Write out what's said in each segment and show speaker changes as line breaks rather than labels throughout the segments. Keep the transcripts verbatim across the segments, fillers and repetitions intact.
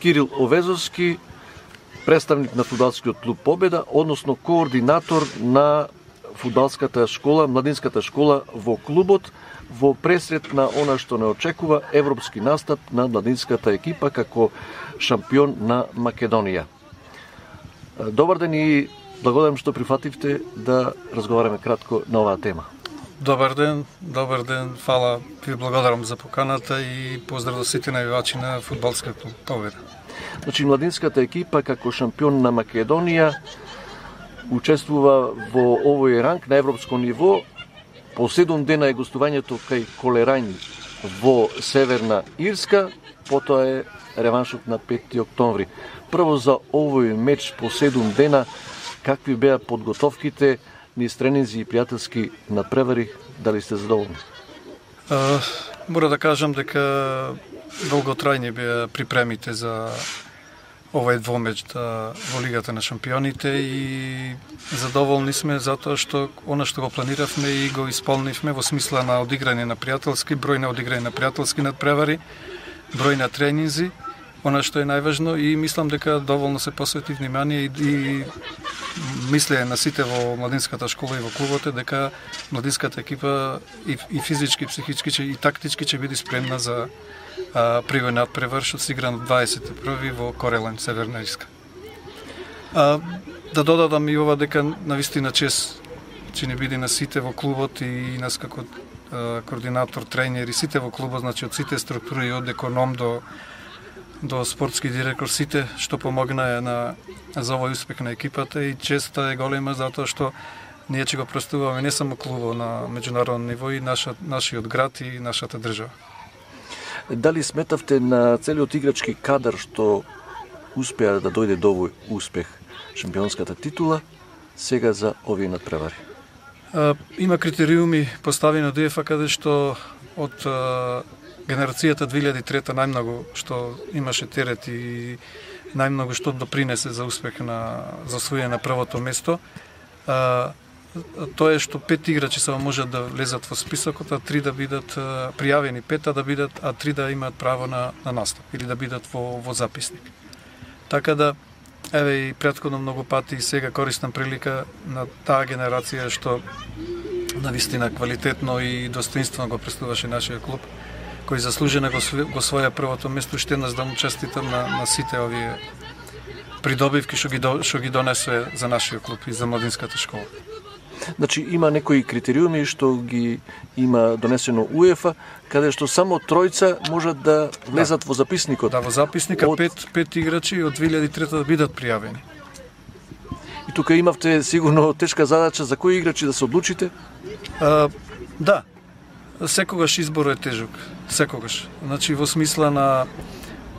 Кирил Овезовски, представник на фудбалскиот клуб Победа, односно координатор на фудбалската школа, младинската школа во клубот, во пресред на она што не очекува европски настап на младинската екипа како шампион на Македонија. Добар ден и благодарам што прифативте да разговараме кратко на оваа тема.
Добар ден, добар ден, фала, ви благодарам за поканата и поздрав до сите навивачи на фудбалскиот клуб Победа.
Значи, младинската екипа како шампион на Македонија учествува во овој ранг на европско ниво. По седум дена е гостувањето кај Колерањ во Северна Ирска, потоа е реваншот на пети октомври. Прво за овој меч по седум дена, какви беа подготовките, низ тренинзи и пријателски надпревари, дали сте задоволни?
Uh, мора да кажам дека долготрајни беа припремите за овој двомеч да, во Лигата на шампионите и задоволни сме затоа што она што го планиравме и го исполнивме во смисла на одиграње на пријателски, број на одиграње на пријателски надпревари, број на тренинзи, она што е најважно и мислам дека доволно се посвети внимание и, и мислење на сите во младинската школа и во клубот е дека младинската екипа и, и физички, и психички и тактички ќе биде спремна за а, првиот надпревар што се игра на дваесет и први во Корелен, Северна Ирска. А, да додадам и ова дека навистина чест ќе не биде на сите во клубот и нас како а, координатор, тренер и сите во клубот, значи од сите структури од економ до до спортски директор, сите што помогнаа на за овој успех на екипата и честа е голема затоа што ние ќе го представуваме не само клубот на меѓународно ниво и наша, нашиот град и нашата држава.
Дали сметавте на целиот играчки кадар што успеа да дојде до овој успех, шампионската титула, сега за овие надпревари?
А, има критериуми поставени од УЕФА каде што од а, генерацијата две илјади и трета најмногу што имаше терет и најмногу што допринесе за успех на за освојање на првото место. А, тоа е што пет играчи само можат да влезат во списокот, а три да бидат а, пријавени, пет да бидат, а три да имаат право на, на настап или да бидат во, во записник. Така да, еве и претходно многу пати и сега користам прилика на таа генерација што навистина квалитетно и достоинствено го представуваше нашиот клуб, кој заслужено го, го своја првото место, ще нас да му честитам на, на сите овие придобивки што ги, што ги донесе за нашиот клуб и за младинската школа.
Значи има некои критериуми што ги има донесено УЕФА, каде што само тројца можат да влезат да. во записникот.
Да, во записникот од... пет, пет играчи од две илјади и трета да бидат пријавени.
И тука имавте сигурно тешка задача за кои играчи да се одлучите?
А, да, секогаш изборот е тежок, секогаш. Значи во смисла на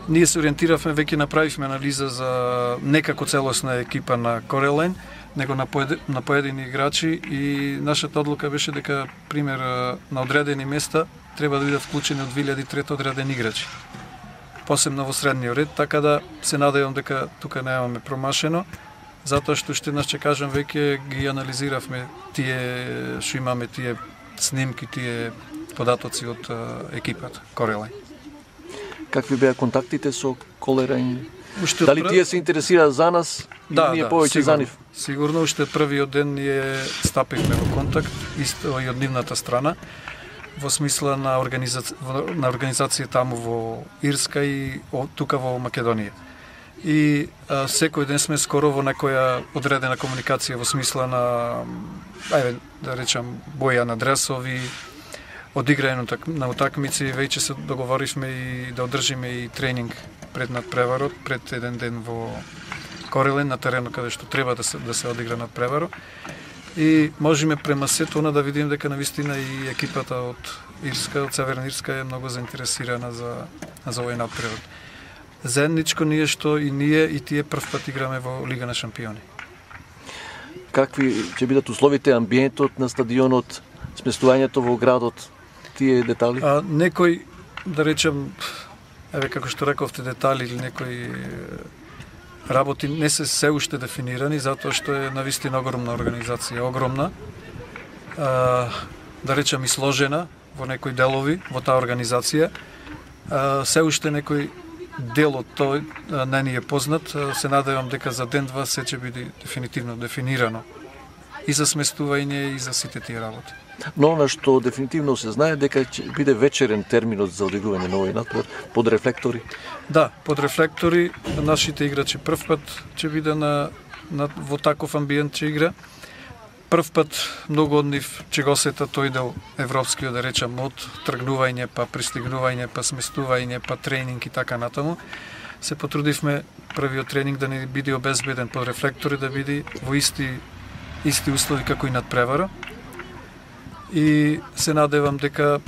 ние се ориентиравме, веќе направивме анализа за некако целосна екипа на Корелен, него на, поед... на поедини играчи и нашата одлука беше дека, пример, на одредени места треба да бидат вклучени од две илјади и трета одредени играчи. Посебно во средниот ред, така да се надевам дека тука немаме промашено, затоа што ще нас ќе кажам веќе ги анализиравме тие што имаме тие снимки, тие податоци од екипата Корелен.
Какви беа контактите со Колерањ?
Уште
Дали
пр...
тие се интересира за нас и
да,
ние
да,
повеќе за нив?
Сигурно, уште првиот ден ние стапивме во контакт, исто и од нивната страна, во смисла на, организа... на организација таму во Ирска и тука во Македонија. И а, секој ден сме скоро во некоја одредена комуникација во смисла на, ајде да речам, боја на дресови, одиграње на утакмици, веќе се договоривме и да одржиме и тренинг пред надпреварот, пред еден ден во Корелен на теренот каде што треба да се да се одигра надпреварот. И можеме према сето она да видиме дека навистина и екипата од Ирска, од Северна Ирска е многу заинтересирана за за овој надпревар. Заедничко ние што и ние и тие прв пат играме во Лига на шампиони.
Какви ќе бидат условите, амбиентот на стадионот, сместувањето во градот, тие детали?
А, некој, да речем, еве како што рековте, детали или некои работи не се се уште дефинирани, затоа што е навистина огромна организација, огромна, а, да речем и сложена во некои делови во таа организација. А, се уште некои дел од тој не ни е познат. Се надевам дека за ден-два се ќе биде дефинитивно дефинирано и за сместување и за сите тие работи.
Но она што дефинитивно се знае дека ќе биде вечерен терминот за одигрување на овој натпревар под рефлектори.
Да, под рефлектори нашите играчи прв пат ќе биде на, на во таков амбиент ќе игра. Прв пат многу од нив ќе го сета тој дел европскиот, да речам, од тргнување, па пристигнување, па сместување, па тренинг и така натаму. Се потрудивме првиот тренинг да не биде обезбеден под рефлектори, да биде во исти исти услови како и надпревара. И се надевам дека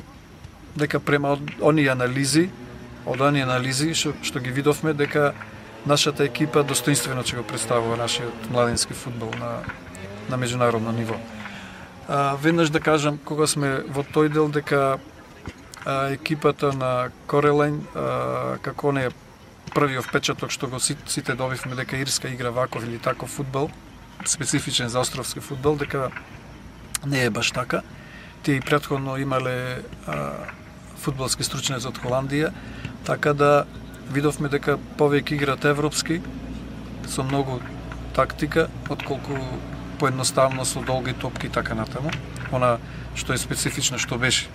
дека према оние анализи, од оние анализи што, што ги видовме, дека нашата екипа достоинствено ќе го представува нашиот младински фудбал на на меѓународно ниво. А, веднаш да кажам, кога сме во тој дел, дека а, екипата на Корелайн, а, како не е првиот впечаток што го сите добивме, дека Ирска игра ваков или таков фудбал, специфичен за островски фудбал, дека не е баш така. Тие и претходно имале а, фудбалски стручњаци од Холандија, така да видовме дека повеќе играат европски, со многу тактика, отколку поедноставно со долги топки и така натаму. Она што е специфично што беше.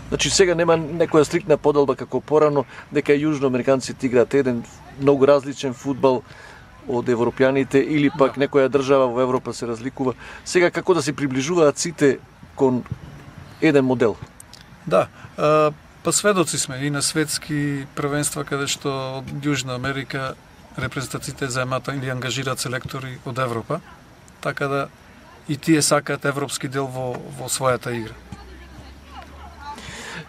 Значи сега нема некоја стриктна поделба како порано, дека јужноамериканците играат еден многу различен фудбал од европјаните или пак да. Некоја држава во Европа се разликува. Сега како да се приближуваат сите кон еден модел?
Да, а, па сведоци сме и на светски првенства каде што од Јужна Америка репрезентациите заемат или ангажираат селектори од Европа, така да и тие сакаат европски дел во, во својата игра.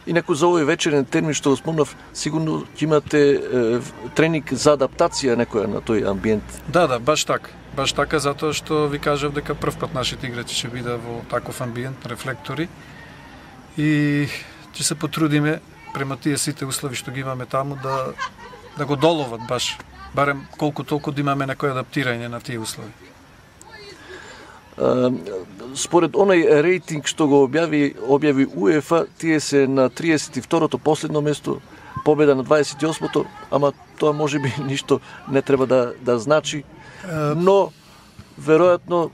Инаку за овој вечерен термин што го спомнав, сигурно ќе имате е, тренинг за адаптација некоја на тој амбиент.
Да, да, баш така. Баш така, затоа што ви кажав дека прв пат нашите играчи ќе биде во таков амбиент, рефлектори, и ќе се потрудиме према тие сите услови што ги имаме таму да да го доловат баш, барем колку толку да имаме некој адаптирање на тие услови.
Според онај рейтинг што го објави објави УЕФА, тие се на триесет и второто последно место, победа на дваесет и осмото, ама тоа можеби ништо не треба да да значи, но веројатно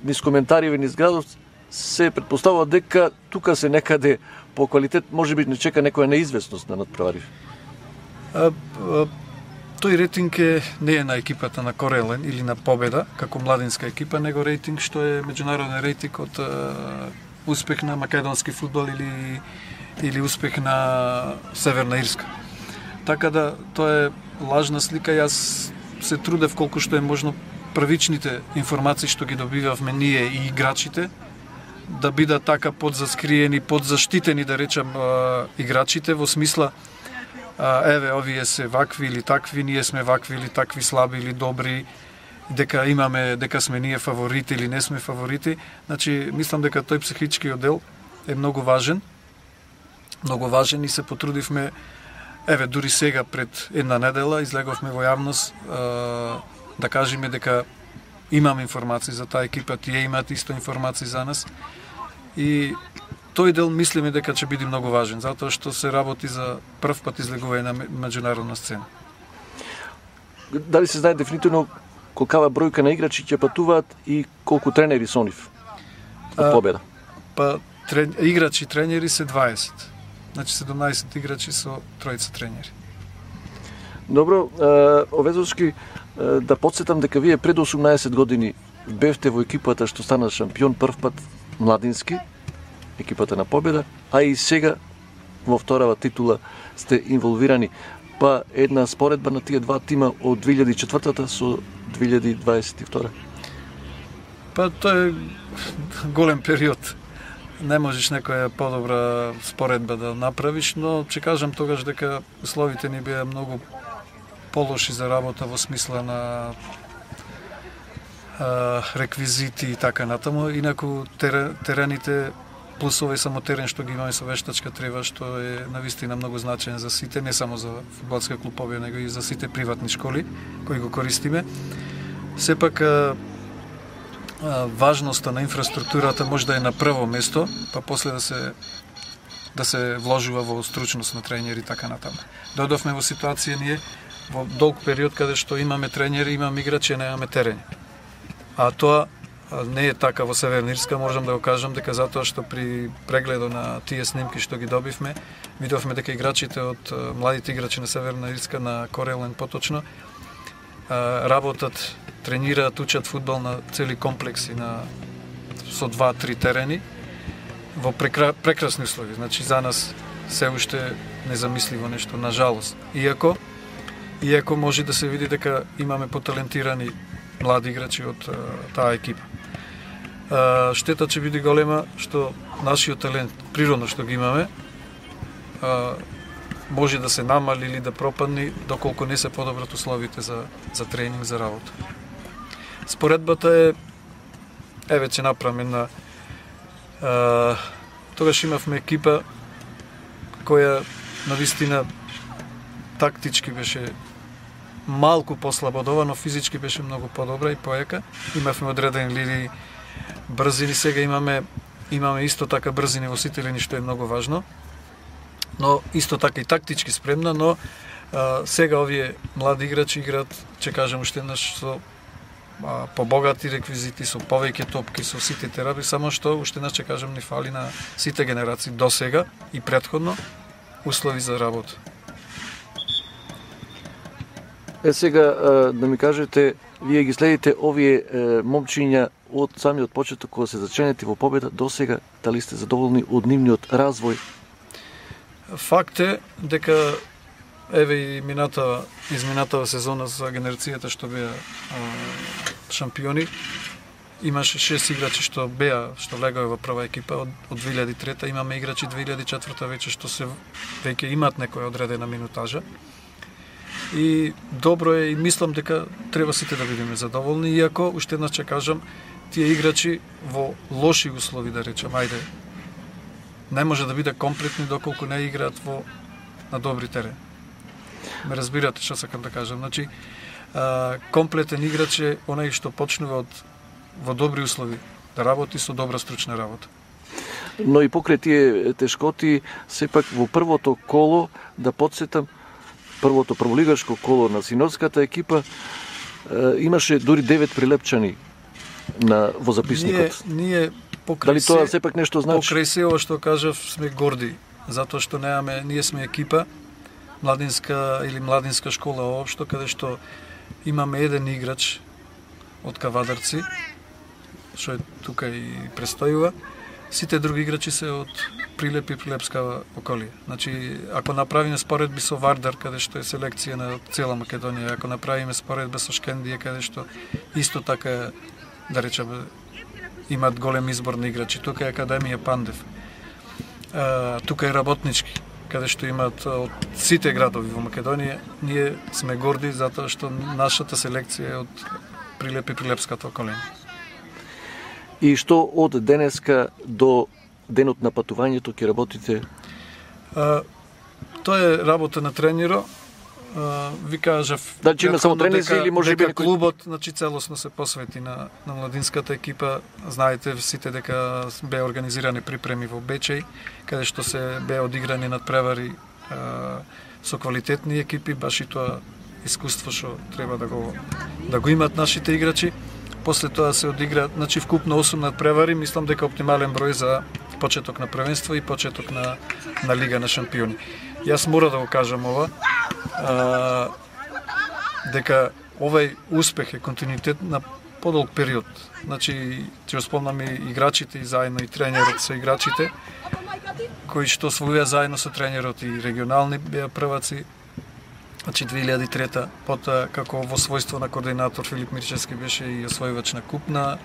низ коментари низ градот се претпоставува дека тука се некаде по квалитет можеби не чека некоја неизвестност на надпревари.
Тој рейтинг е, не е на екипата на Корелен или на Победа, како младинска екипа, него рейтинг што е меѓународен рейтинг од е, успех на македонски фудбал или, или успех на Северна Ирска. Така да, тоа е лажна слика. Јас се трудев колку што е можно првичните информации што ги добивавме ние и играчите, да бидат така подзаскриени, подзаштитени, да речам, играчите, во смисла А, еве, овие се вакви или такви, ние сме вакви или такви, слаби или добри, дека имаме, дека сме ние фаворити или не сме фаворити. Значи, мислам дека тој психички оддел е многу важен, многу важен и се потрудивме, еве, дури сега пред една недела излеговме во јавност а, да кажеме дека имам информации за таа екипа, тие имаат исто информации за нас и тој дел мислиме дека ќе биде многу важен, затоа што се работи за прв пат излегување на меѓународна сцена.
Дали се знае дефинитивно колкава бројка на играчи ќе патуваат и колку тренери со нив од Победа?
А, па трен... играчи и тренери се дваесет. Значи седумнаесет играчи со тројца тренери.
Добро, Овезовски, да подсетам дека вие пред осумнаесет години бевте во екипата што стана шампион прв пат младински, екипата на Победа, а и сега во вторава титула сте инволвирани. Па една споредба на тие два тима од две илјади и четвртата со две илјади дваесет и втора.
Па тоа е голем период. Не можеш некоја подобра споредба да направиш, но ќе кажам тогаш дека условите ни беа многу полоши за работа во смисла на а, реквизити и така натаму. Инаку терените плюс овој само терен што ги имаме со вештачка трева, што е навистина многу значаен за сите, не само за фудбалска клуб Победа, него и за сите приватни школи кои го користиме. Сепак а, а, важноста на инфраструктурата може да е на прво место, па после да се да се вложува во стручност на тренери и така натаму. Додовме во ситуација ние во долг период каде што имаме тренери, имаме играчи, немаме терен. А тоа не е така во Северна Ирска, можам да го кажам дека затоа што при прегледот на тие снимки што ги добивме, видовме дека играчите од младите играчи на Северна Ирска, на Корелен поточно, работат, тренираат, учат фудбал на цели комплекси на со два-три терени во прекра, прекрасни услови. Значи за нас се уште незамисливо нешто, на жалост. Иако иако може да се види дека имаме поталентирани млади играчи од а, таа екипа. А, штета ќе биде голема што нашиот талент, природно што ги имаме, а, може да се намали или да пропадне доколку не се подобрат условите за, за тренинг, за работа. Споредбата е, еве ќе направам една, а, тогаш имавме екипа која навистина тактички беше малку послабодова, но физички беше многу подобра и поека. Имавме одредени линии брзини, сега имаме имаме исто така брзини во сите линии, што е многу важно. Но исто така и тактички спремна, но а, сега овие млади играчи играат, ќе кажам уште еднаш, со а, побогати реквизити, со повеќе топки, со сите терапии, само што уште еднаш ќе кажам ни фали на сите генерации до сега и претходно услови за работа.
Е сега да ми кажете, вие ги следите овие момчиња од самиот почеток кога се заченети во победа до сега, дали сте задоволни од нивниот развој?
Факт е дека еве и мината изминатава сезона за генерацијата што беа шампиони, имаше шест играчи што беа, што легаја во прва екипа од, од две илјади и трета, имаме играчи две илјади и четврта веќе што се веќе имаат некоја одредена минутажа. И добро е, и мислам дека треба сите да бидеме задоволни, иако уште еднаш ќе кажам, тие играчи во лоши услови, да речем, ајде, не може да биде комплетни доколку не играат во на добри терени. Ме разбирате што сакам да кажам. Значи, а, комплетен играч е онај што почнува од во добри услови да работи со добра стручна работа.
Но и покрај тие тешкоти, сепак во првото коло, да подсетам, првото прволигашко коло на синовската екипа, имаше дури девет прилепчани на во записникот.
Ние, ние покрај
Дали тоа сепак нешто значи?
Покрај се ова што кажав, сме горди, затоа што немаме, ние сме екипа младинска или младинска школа општо, каде што имаме еден играч од Кавадарци, што е тука и престојува. Сите други играчи се од Прилеп и Прилепска околија. Значи, ако направиме споредби со Вардар, каде што е селекција на цела Македонија, ако направиме споредба со Шкендија, каде што исто така, да речеме, имат голем избор на играчи. Тука е Академија Пандев. А, тука е Работнички, каде што имат од сите градови во Македонија. Ние сме горди затоа што нашата селекција е од Прилеп и Прилепската околина.
И што од денеска до денот на патувањето ќе работите?
А, тоа е работа на тренеро. А, ви кажав,
дали има само тренинзи или може би
некој клубот, значи целосно се посвети на на младинската екипа. Знаете сите дека беа организирани припреми во Бечеј, каде што се беа одиграни надпревари а, со квалитетни екипи, баш и тоа искуство што треба да го да го имат нашите играчи. После тоа се одигра, значи вкупно осум надпревари, мислам дека оптимален број за почеток на првенство и почеток на на Лига на шампиони. Јас мора да го кажам ова, а, дека овај успех е континуитет на подолг период. Значи, ќе спомнам и играчите и заедно и тренерот со играчите, кои што освоија заедно со тренерот и регионални беа прваци. Значи две илјади и трета, потоа како во својство на координатор Филип Мирчевски беше и освојувач на куп на,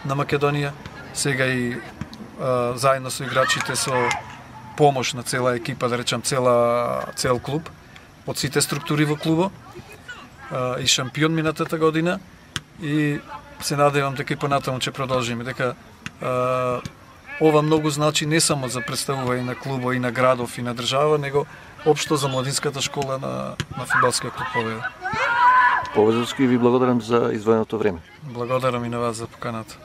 на Македонија. Сега и а, заедно со играчите со помош на цела екипа, да речам цела цел клуб, од сите структури во клубо, а, и шампион минатата година, и се надевам дека и понатаму ќе продолжиме, дека а, ова многу значи не само за представување на клубо и на градов и на држава, него општо за младинската школа на, на фудбалскиот клуб Победа.
Повезовски, ви благодарам за издвоеното време.
Благодарам и на вас за поканата.